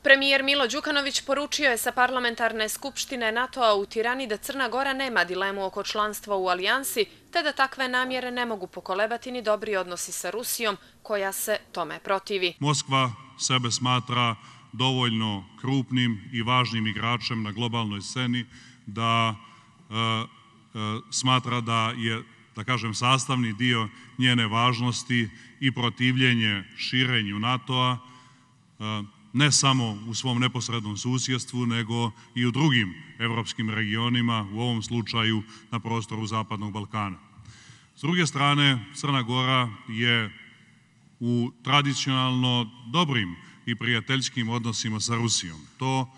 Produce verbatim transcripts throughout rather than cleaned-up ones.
Premijer Milo Đukanović poručio je sa parlamentarne skupštine NATO-a u Tirani da Crna Gora nema dilemu oko članstva u alijansi, te da takve namjere ne mogu pokolebati ni dobri odnosi sa Rusijom, koja se tome protivi. Moskva sebe smatra dovoljno krupnim i važnim igračem na globalnoj sceni da e, e, smatra da je, da kažem, sastavni dio njene važnosti i protivljenje širenju NATO-a, e, ne samo u svom neposrednom susjedstvu, nego i u drugim evropskim regionima, u ovom slučaju na prostoru Zapadnog Balkana. S druge strane, Crna Gora je u tradicionalno dobrim i prijateljskim odnosima sa Rusijom. To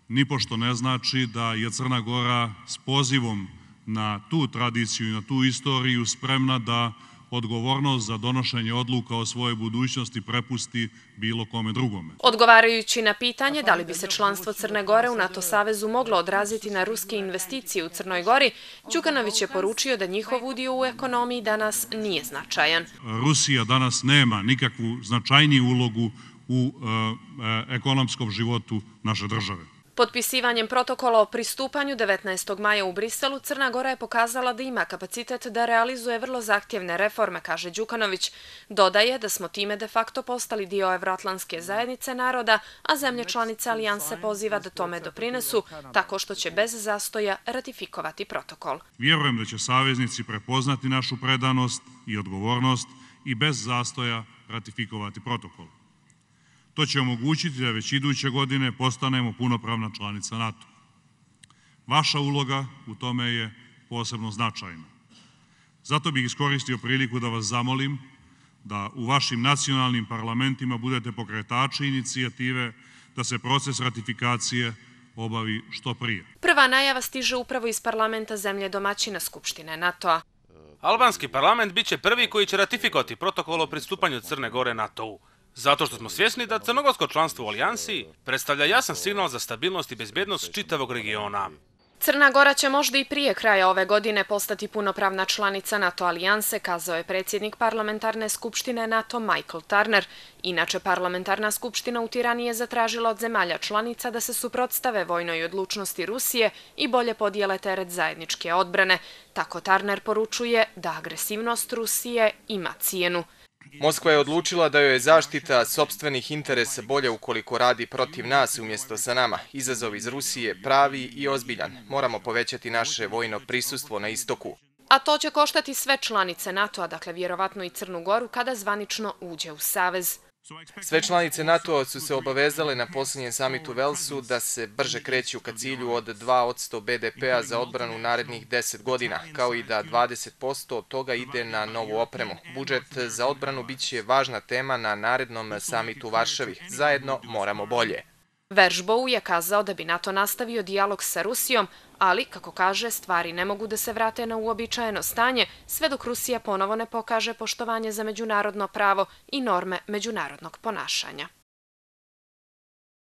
nipošto ne znači da je Crna Gora s pozivom na tu tradiciju i na tu istoriju spremna da odgovornost za donošenje odluka o svojoj budućnosti prepusti bilo kome drugome. Odgovarajući na pitanje da li bi se članstvo Crne Gore u NATO savezu moglo odraziti na ruske investicije u Crnoj Gori, Đukanović je poručio da njihov udio u ekonomiji danas nije značajan. Rusija danas nema nikakvu značajniju ulogu u e, ekonomskom životu naše države. Potpisivanjem protokola o pristupanju devetnaestog maja u Briselu, Crna Gora je pokazala da ima kapacitet da realizuje vrlo zahtjevne reforme, kaže Đukanović. Dodaje da smo time de facto postali dio Evroatlantske zajednice naroda, a zemlje članice alijanse poziva da tome doprinesu, tako što će bez zastoja ratifikovati protokol. Vjerujem da će saveznici prepoznati našu predanost i odgovornost i bez zastoja ratifikovati protokol. To će omogućiti da već iduće godine postanemo punopravna članica NATO. Vaša uloga u tome je posebno značajna. Zato bih iskoristio priliku da vas zamolim da u vašim nacionalnim parlamentima budete pokretači inicijative da se proces ratifikacije obavi što prije. Prva najava stiže upravo iz parlamenta zemlje domaćina Skupštine NATO-a. Albanski parlament biće prvi koji će ratifikovati protokol o pristupanju Crne Gore NATO-u. Zato što smo svjesni da crnogorsko članstvo u alijansi predstavlja jasan signal za stabilnost i bezbjednost čitavog regiona. Crna Gora će možda i prije kraja ove godine postati punopravna članica NATO alijanse, kazao je predsjednik parlamentarne skupštine NATO Michael Turner. Inače, parlamentarna skupština u Tirani je zatražila od zemalja članica da se suprotstave vojnoj odlučnosti Rusije i bolje podijele teret zajedničke odbrane. Tako Turner poručuje da agresivnost Rusije ima cijenu. Moskva je odlučila da joj je zaštita sopstvenih interesa bolje ukoliko radi protiv nas umjesto sa nama. Izazov iz Rusije pravi i ozbiljan. Moramo povećati naše vojno prisustvo na istoku. A to će koštati sve članice NATO-a, dakle vjerovatno i Crnu Goru, kada zvanično uđe u savez. Sve članice NATO-a su se obavezale na posljednjem samitu u Velsu da se brže kreću ka cilju od dva posto be de pea za odbranu narednih deset godina, kao i da dvadeset posto od toga ide na novu opremu. Budžet za odbranu biće važna tema na narednom samitu u Varšavi. Zajedno moramo bolje. Veržbou je kazao da bi NATO nastavio dijalog sa Rusijom, ali, kako kaže, stvari ne mogu da se vrate na uobičajeno stanje sve dok Rusija ponovo ne pokaže poštovanje za međunarodno pravo i norme međunarodnog ponašanja.